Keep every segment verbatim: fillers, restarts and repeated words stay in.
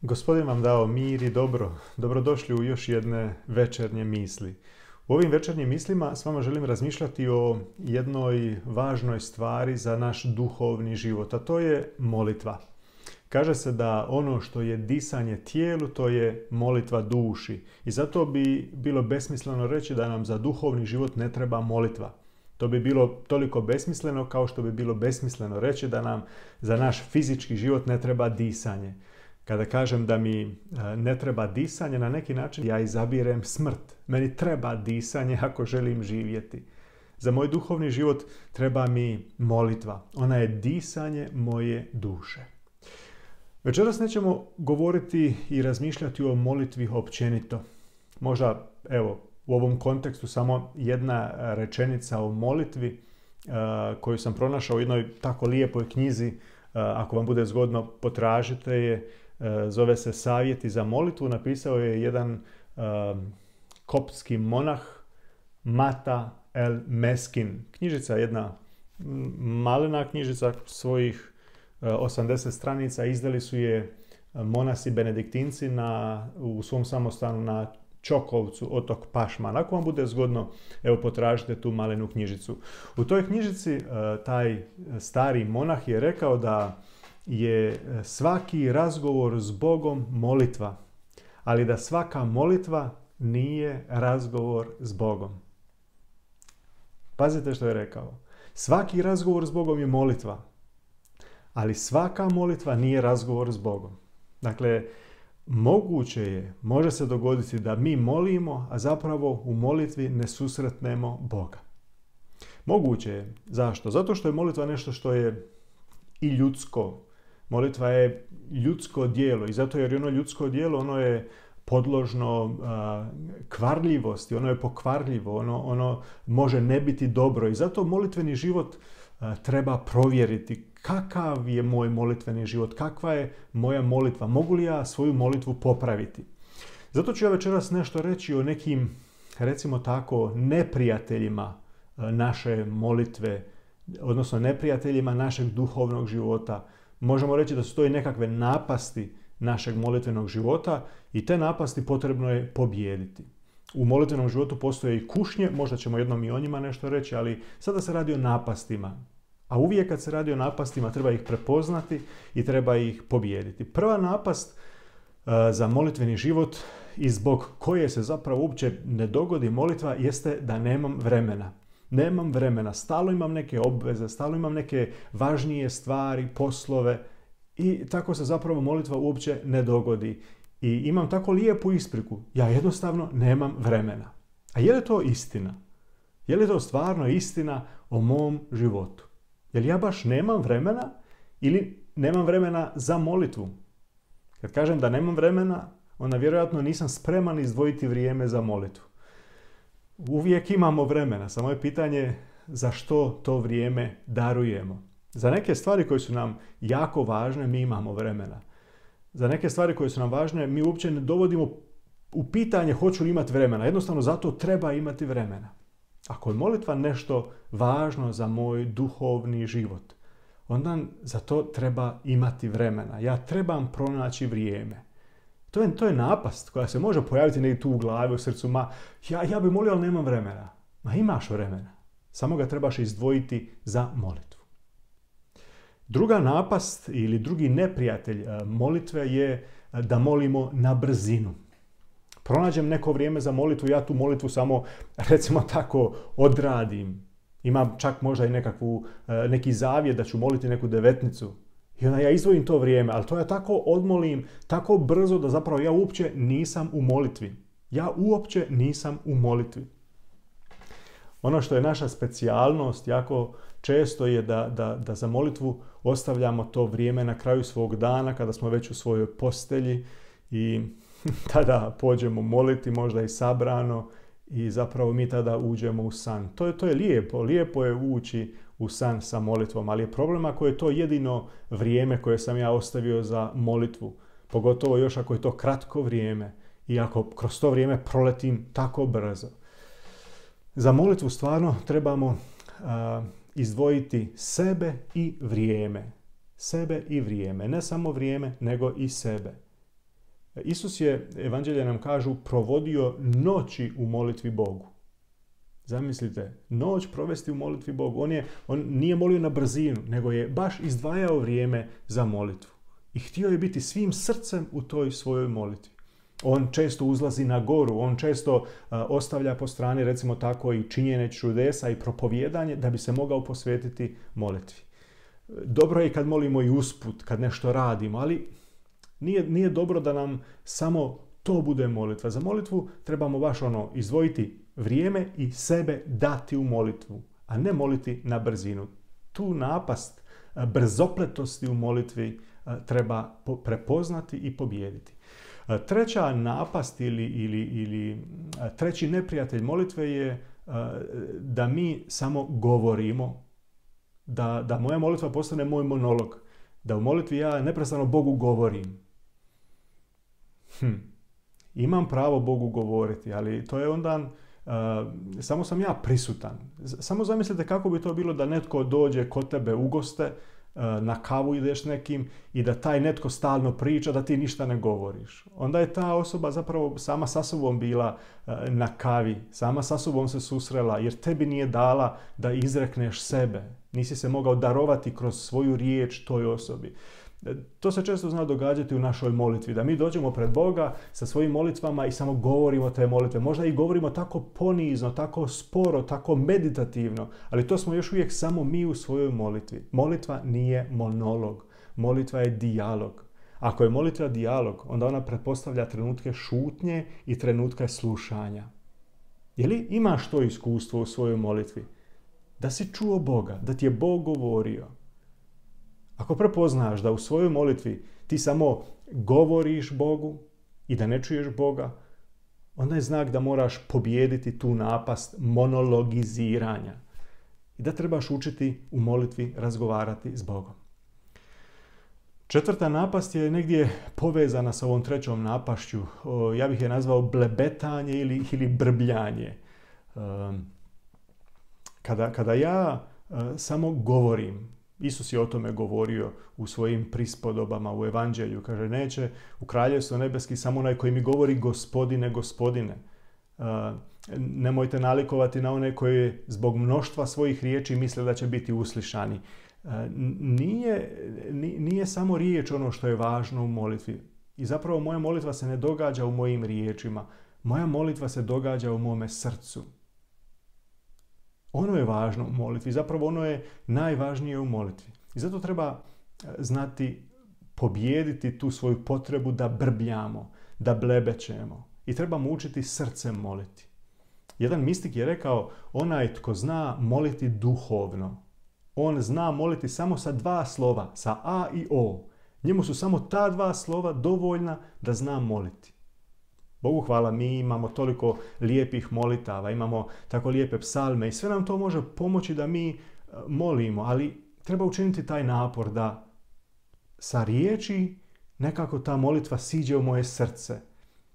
Gospodin vam dao mir i dobro. Dobrodošli u još jedne večernje misli. U ovim večernjim mislima s vama želim razmišljati o jednoj važnoj stvari za naš duhovni život, a to je molitva. Kaže se da ono što je disanje tijelu, to je molitva duši. I zato bi bilo besmisleno reći da nam za duhovni život ne treba molitva. To bi bilo toliko besmisleno kao što bi bilo besmisleno reći da nam za naš fizički život ne treba disanje. Kada kažem da mi ne treba disanje, na neki način ja izabirem smrt. Meni treba disanje ako želim živjeti. Za moj duhovni život treba mi molitva. Ona je disanje moje duše. Večeras nećemo govoriti i razmišljati o molitvi općenito. Možda, evo, u ovom kontekstu samo jedna rečenica o molitvi koju sam pronašao u jednoj tako lijepoj knjizi. Ako vam bude zgodno, potražite je. Zove se Savjeti za molitvu. Napisao je jedan koptski monah, Mata el Meskin. Knjižica, jedna malena knjižica, svojih osamdeset stranica. Izdali su je monasi benediktinci na, u svom samostanu na Čokovcu, otok Pašman. Ako vam bude zgodno, evo, potražite tu malenu knjižicu. U toj knjižici taj stari monah je rekao da je svaki razgovor s Bogom molitva, ali da svaka molitva nije razgovor s Bogom. Pazite što je rekao. Svaki razgovor s Bogom je molitva, ali svaka molitva nije razgovor s Bogom. Dakle, moguće je, može se dogoditi da mi molimo, a zapravo u molitvi ne susretnemo Boga. Moguće je. Zašto? Zato što je molitva nešto što je i ljudsko. Molitva je ljudsko djelo i zato jer je ono ljudsko djelo, ono je podložno a, kvarljivosti, ono je pokvarljivo, ono, ono može ne biti dobro i zato molitveni život a, treba provjeriti. Kakav je moj molitveni život? Kakva je moja molitva? Mogu li ja svoju molitvu popraviti? Zato ću ja večeras nešto reći o nekim, recimo tako, neprijateljima naše molitve, odnosno neprijateljima našeg duhovnog života. Možemo reći da su to i nekakve napasti našeg molitvenog života i te napasti potrebno je pobijediti. U molitvenom životu postoje i kušnje, možda ćemo jednom i o njima nešto reći, ali sada se radi o napastima. A uvijek kad se radi o napastima treba ih prepoznati i treba ih pobijediti. Prva napast uh, za molitveni život i zbog koje se zapravo uopće ne dogodi molitva jeste da nemam vremena. Nemam vremena, stalno imam neke obveze, stalno imam neke važnije stvari, poslove i tako se zapravo molitva uopće ne dogodi. I imam tako lijepu ispriku, ja jednostavno nemam vremena. A je li to istina? Je li to stvarno istina o mom životu? Je li ja baš nemam vremena ili nemam vremena za molitvu? Kad kažem da nemam vremena, onda vjerojatno nisam spreman izdvojiti vrijeme za molitvu. Uvijek imamo vremena, samo je pitanje za što to vrijeme darujemo. Za neke stvari koje su nam jako važne mi imamo vremena. Za neke stvari koje su nam važne mi uopće ne dovodimo u pitanje hoću li imati vremena. Jednostavno zato treba imati vremena. Ako je molitva nešto važno za moj duhovni život, onda za to treba imati vremena. Ja trebam pronaći vrijeme. To je, to je napast koja se može pojaviti negdje tu u glavi, u srcu. Ma, ja, ja bi molio, ali nemam vremena. Ma imaš vremena. Samo ga trebaš izdvojiti za molitvu. Druga napast ili drugi neprijatelj molitve je da molimo na brzinu. Pronađem neko vrijeme za molitvu, ja tu molitvu samo, recimo tako, odradim. Imam čak možda i nekakvu, neki zavjet da ću moliti neku devetnicu. I onda ja izdvojim to vrijeme, ali to ja tako odmolim, tako brzo da zapravo ja uopće nisam u molitvi. Ja uopće nisam u molitvi. Ono što je naša specijalnost jako često je da, da, da za molitvu ostavljamo to vrijeme na kraju svog dana kada smo već u svojoj postelji i tada pođemo moliti, možda i sabrano i zapravo mi tada uđemo u san. To je, to je lijepo, lijepo je ući u san sa molitvom, ali je problem ako je to jedino vrijeme koje sam ja ostavio za molitvu. Pogotovo još ako je to kratko vrijeme i ako kroz to vrijeme proletim tako brzo. Za molitvu stvarno trebamo uh, izdvojiti sebe i vrijeme. Sebe i vrijeme. Ne samo vrijeme, nego i sebe. Isus je, evanđelje nam kažu, provodio noći u molitvi Bogu. Zamislite, noć provesti u molitvi Bogu. On, je, on nije molio na brzinu, nego je baš izdvajao vrijeme za molitvu. I htio je biti svim srcem u toj svojoj molitvi. On često uzlazi na goru, on često uh, ostavlja po strani, recimo tako, i činjenje čudesa i propovijedanje da bi se mogao posvetiti molitvi. Dobro je kad molimo i usput, kad nešto radimo, ali nije, nije dobro da nam samo to bude molitva. Za molitvu trebamo baš ono izdvojiti vrijeme i sebe dati u molitvu, a ne moliti na brzinu. Tu napast brzopletosti u molitvi treba prepoznati i pobijediti. Treća napast ili, ili, ili treći neprijatelj molitve je da mi samo govorimo, da, da moja molitva postane moj monolog, da u molitvi ja neprestano Bogu govorim. Hm. Imam pravo Bogu govoriti, ali to je onda uh, samo sam ja prisutan. Samo zamislite kako bi to bilo da netko dođe kod tebe u goste, uh, na kavu ideš nekim i da taj netko stalno priča, da ti ništa ne govoriš. Onda je ta osoba zapravo sama sa sobom bila uh, na kavi, sama sa sobom se susrela, jer tebi nije dala da izrekneš sebe. Nisi se mogao darovati kroz svoju riječ toj osobi. To se često zna događati u našoj molitvi, da mi dođemo pred Boga sa svojim molitvama i samo govorimo te molitve. Možda i govorimo tako ponizno, tako sporo, tako meditativno, ali to smo još uvijek samo mi u svojoj molitvi. Molitva nije monolog, molitva je dijalog. Ako je molitva dijalog, onda ona pretpostavlja trenutke šutnje i trenutke slušanja. Je li imaš to iskustvo u svojoj molitvi? Da si čuo Boga, da ti je Bog govorio. Ako prepoznaš da u svojoj molitvi ti samo govoriš Bogu i da ne čuješ Boga, onda je znak da moraš pobijediti tu napast monologiziranja i da trebaš učiti u molitvi razgovarati s Bogom. Četvrta napast je negdje povezana sa ovom trećom napašću. Ja bih je nazvao blebetanje ili, ili brbljanje. Kada, kada ja samo govorim, Isus je o tome govorio u svojim prispodobama u evanđelju. Kaže, neće u kraljevstvo nebeski samo onaj koji mi govori gospodine, gospodine. Uh, nemojte nalikovati na one koji zbog mnoštva svojih riječi misle da će biti uslišani. Uh, nije, nije samo riječ ono što je važno u molitvi. I zapravo moja molitva se ne događa u mojim riječima. Moja molitva se događa u mome srcu. Ono je važno u molitvi, zapravo ono je najvažnije u molitvi. I zato treba znati pobijediti tu svoju potrebu da brbljamo, da blebećemo. I trebamo učiti srcem moliti. Jedan mistik je rekao, onaj tko zna moliti duhovno, on zna moliti samo sa dva slova, sa A i O. Njemu su samo ta dva slova dovoljna da zna moliti. Bogu hvala, mi imamo toliko lijepih molitava, imamo tako lijepe psalme i sve nam to može pomoći da mi molimo, ali treba učiniti taj napor da sa riječi nekako ta molitva siđe u moje srce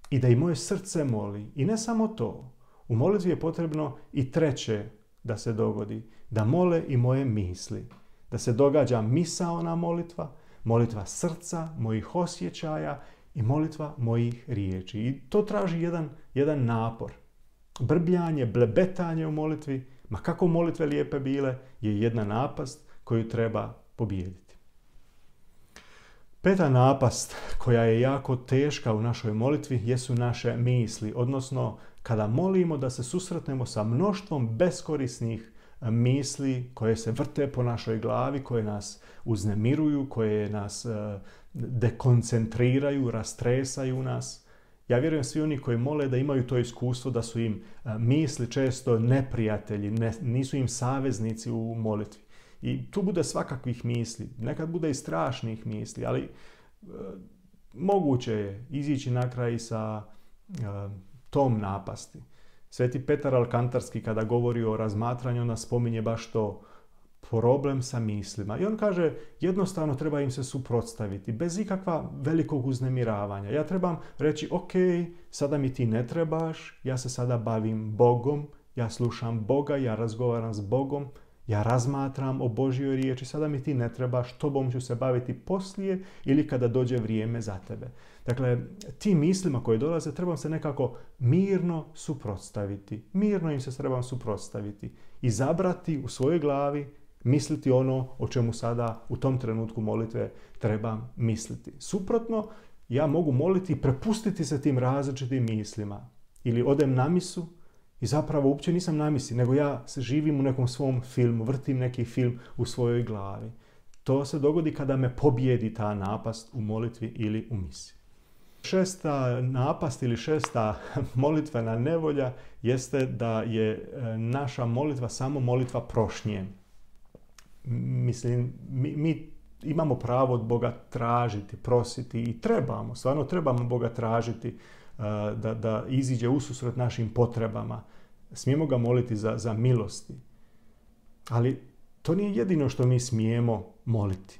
i da i moje srce moli. I ne samo to, u molitvi je potrebno i treće da se dogodi, da mole i moje misli, da se događa misaona molitva, molitva srca, mojih osjećaja i molitva mojih riječi. I to traži jedan, jedan napor. Brbljanje, blebetanje u molitvi, ma kako molitve lijepe bile, je jedna napast koju treba pobijediti. Peta napast koja je jako teška u našoj molitvi jesu naše misli, odnosno kada molimo da se susretnemo sa mnoštvom beskorisnih misli koje se vrte po našoj glavi, koje nas uznemiruju, koje nas dekoncentriraju, rastresaju nas. Ja vjerujem svi oni koji mole da imaju to iskustvo da su im misli često neprijatelji, ne, nisu im saveznici u molitvi. I tu bude svakakvih misli, nekad bude i strašnih misli, ali e, moguće je izići na kraj sa e, tom napasti. Sveti Petar Alkantarski kada govori o razmatranju, ona spominje baš to, problem sa mislima. I on kaže, jednostavno treba im se suprotstaviti, bez ikakva velikog uznemiravanja. Ja trebam reći, ok, sada mi ti ne trebaš, ja se sada bavim Bogom, ja slušam Boga, ja razgovaram s Bogom Ja razmatram o Božjoj riječi, sada mi ti ne trebaš, tobom ću se baviti poslije ili kada dođe vrijeme za tebe. Dakle, tim mislima koje dolaze trebam se nekako mirno suprotstaviti. Mirno im se trebam suprotstaviti. Izabrati u svojoj glavi, misliti ono o čemu sada u tom trenutku molitve trebam misliti. Suprotno, ja mogu moliti i prepustiti se tim različitim mislima. Ili odem na misu i zapravo uopće nisam na misi, nego ja se živim u nekom svom filmu, vrtim neki film u svojoj glavi. To se dogodi kada me pobjedi ta napast u molitvi ili u misi. Šesta napast ili šesta molitvena nevolja jeste da je naša molitva samo molitva prošnje. Mislim, mi, mi imamo pravo od Boga tražiti, prositi i trebamo, stvarno trebamo Boga tražiti da, da iziđe ususret našim potrebama. Smijemo ga moliti za, za milosti. Ali to nije jedino što mi smijemo moliti.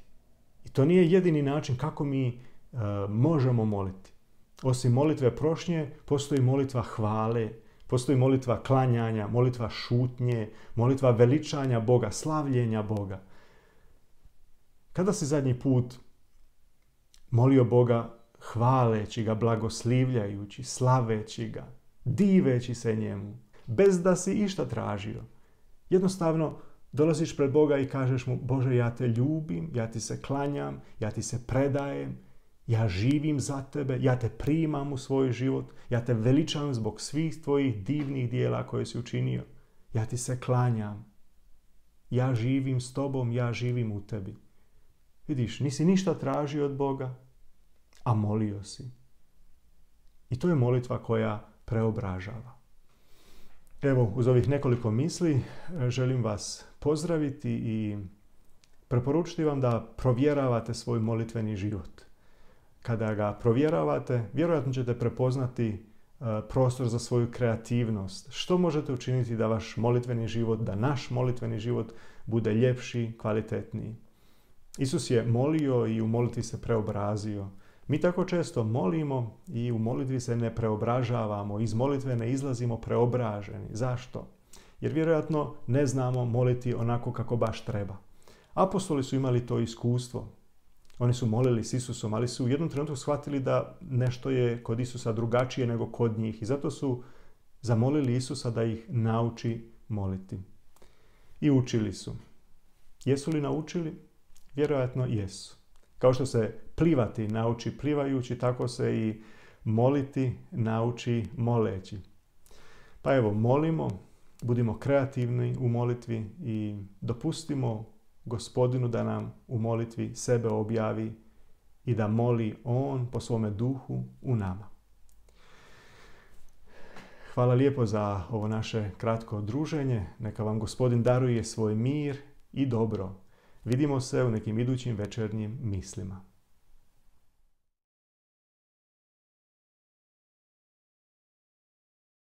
I to nije jedini način kako mi uh, možemo moliti. Osim molitve prošnje, postoji molitva hvale, postoji molitva klanjanja, molitva šutnje, molitva veličanja Boga, slavljenja Boga. Kada si zadnji put molio Boga hvaleći ga, blagoslivljajući, slaveći ga, diveći se njemu, bez da si išta tražio? Jednostavno dolaziš pred Boga i kažeš mu: Bože, ja te ljubim, ja ti se klanjam, ja ti se predajem, ja živim za tebe, ja te primam u svoj život, ja te veličam zbog svih tvojih divnih dijela koje si učinio. Ja ti se klanjam, ja živim s tobom, ja živim u tebi. Vidiš, nisi ništa tražio od Boga, a molio si. I to je molitva koja preobražava. Evo, uz ovih nekoliko misli želim vas pozdraviti i preporučiti vam da provjeravate svoj molitveni život. Kada ga provjeravate, vjerojatno ćete prepoznati prostor za svoju kreativnost. Što možete učiniti da vaš molitveni život, da naš molitveni život bude ljepši, kvalitetniji. Isus je molio i u molitvi se preobrazio. Mi tako često molimo i u molitvi se ne preobražavamo, iz molitve ne izlazimo preobraženi. Zašto? Jer vjerojatno ne znamo moliti onako kako baš treba. Apostoli su imali to iskustvo. Oni su molili s Isusom, ali su u jednom trenutku shvatili da nešto je kod Isusa drugačije nego kod njih. I zato su zamolili Isusa da ih nauči moliti. I učili su. Jesu li naučili? Vjerojatno jesu. Kao što se plivati nauči plivajući, tako se i moliti nauči moleći. Pa evo, molimo, budimo kreativni u molitvi i dopustimo Gospodinu da nam u molitvi sebe objavi i da moli On po svome duhu u nama. Hvala lijepo za ovo naše kratko druženje. Neka vam Gospodin daruje svoj mir i dobro. Vidimo se u nekim idućim večernjim mislima.